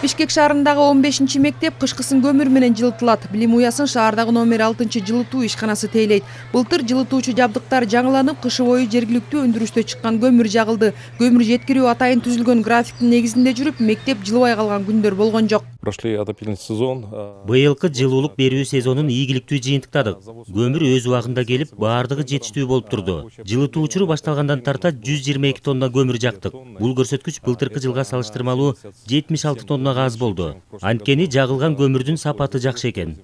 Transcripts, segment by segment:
Бишкек шаарындагы 15-мектеп кышкысын көмүр менен жылытылат. Билим уясын шаардагы номер 6-жылытуу ишканасы тейлейт. Былтыр жылытуучу жабдыктар жаңыланып, кышы бою жергиликтүү өндүрүштө чыккан көмүр жагылды. Көмүр жеткирүү атайын түзүлгөн графиктин негизинде жүрүп, мектеп жылыбай калган күндөр болгон жок. Быйылкы жылуулук берүү сезонун ийгиликтүү жыйынтыктадык. Көмүр өз убагында келип, баардыгы жетиштүү болуп турду. Жылытуу учуру башталгандан тарта 122 тонна көмүр жактык. Бул көрсөткүч былтыркы жылга салыштырмалуу 76 тоннага аз болду. Анткени жагылган көмүрдүн сапаты жакшы экен.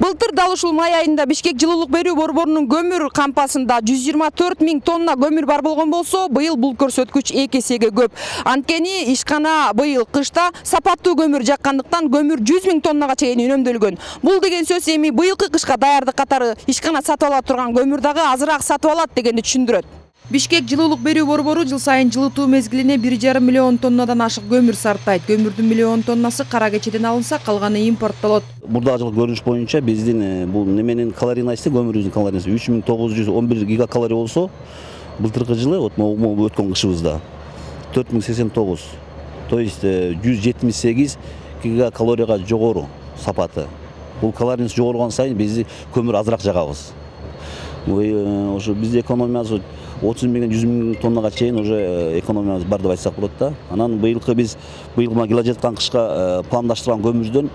Былтыр дал ушул май айында Бишкек жылуулук берүү борборунун көмүр кампасында 124 000 тонна көмүр бар болгон болсо, быйыл бул көрсөткүч 2 эсеге көп. Анткени ишкана быйыл кышта сапаттуу көмүр жаккандыктан көмүр 100 000 тоннага чейин үнөмдөлгөн. Бул деген сөз эми быйылкы кышка даярдык катары ишкана сатып ала турган көмүр дагы азыраак сатып алат дегенди түшүндүрөт. Бишкек жылуулук берүү борбору жыл сайын жылытуу мезгилине 1,5 миллион тоннадан ашык көмүр сарптайт. Көмүрдүн миллион тоннасы Кара Кечеден алынса, калганы импорттолот. Мурдагы жылкы көрүнүш боюнча биздин бул неменин калорийнасы, көмүрүбүздүн калорийнасы 3911 гигакалорий болсо, былтыркы жылы өткөн кышыбызда 4089. То есть 178 гигакалорияга жогору сапаты. Бул калорийнасы жогоргон сайын биз көмүр азыраак жагабыз. Ошо бизде экономиябыз 30 000 100 000 тоннага чейин уже экономиябыз бар деп айтсак болот да. Анан быйыл келе жаткан кышка пландаштырган көмүрдөн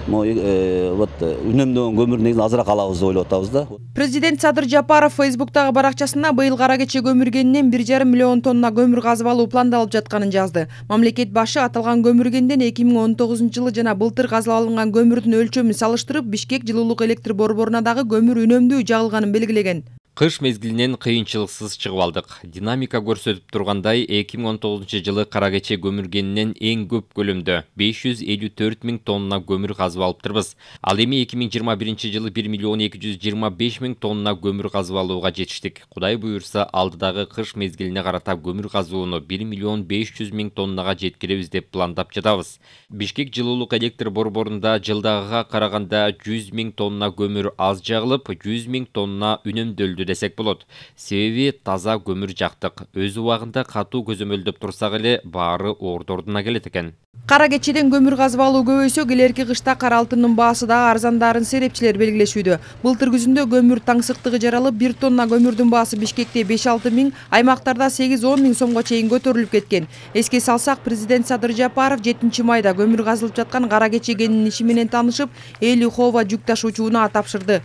үнөмдөгөн көмүр негизинен азыраак алабыз деп ойлоп атабыз да. Президент Садыр Жапаров Фейсбуктагы баракчасында быйыл Кара Кече көмүргенинен 1,5 миллион тонна көмүр казып алуу пландалып жатканын жазды. Мамлекет башы аталган көмүргенден 2019 жылы жана былтыр казылып алынган көмүрдүн өлчөмүн салыштырып, Бишкек жылуулук электр борборуна дагы көмүр үнөмдүү жагылганын белгилеген. Кыш мезгилинен кыйынчылыксыз чыгып алдык. Динамика көрсөтүп тургандай, 2019 жылы Кара Кече көмүргенинен эң көп көлөмдө 554 000 тонна көмүр казып алыптырбыз. Ал эми 2021 жылы 1 миллион 225 000 тонна көмүр казып алууга жетиштик. Кудай буюрса, алдыдагы кыш мезгилине карата көмүр казууну 1 миллион 500 000 тоннага жеткиребиз деп пландап жатабыз. Бишкек жылуулук электр борборунда жылдагыга караганда 100 000 тонна көмүр аз жагылып, 100 000 тонна үнөмдөлдү десек болот. Себеби таза көмүр жактык. Өз убагында катуу көзөмөлдөп турсак эле баары ордордуна келет экен. Кара Кечеден көмүр казып алуу көбөйсө, келерки кышта кара алтындын баасы дагы арзандарын серепчилер белгилешүүдө. Былтыр күзүндө көмүр таңсыктыгы жаралып, 1 тонна көмүрдүн баасы Бишкекте 5-6 000, аймактарда 8-10 000 сомго чейин көтөрүлүп кеткен. Эске салсак, президент Садыр Жапаров 7 майда көмүр казылып жаткан Кара Кече кенинин иши менен таанышып, Эли Хова жүк ташуучуна тапшырды.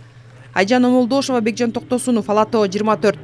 Айжан Омолдошова, Бекжан Токтосунов, Ала Тоо 24.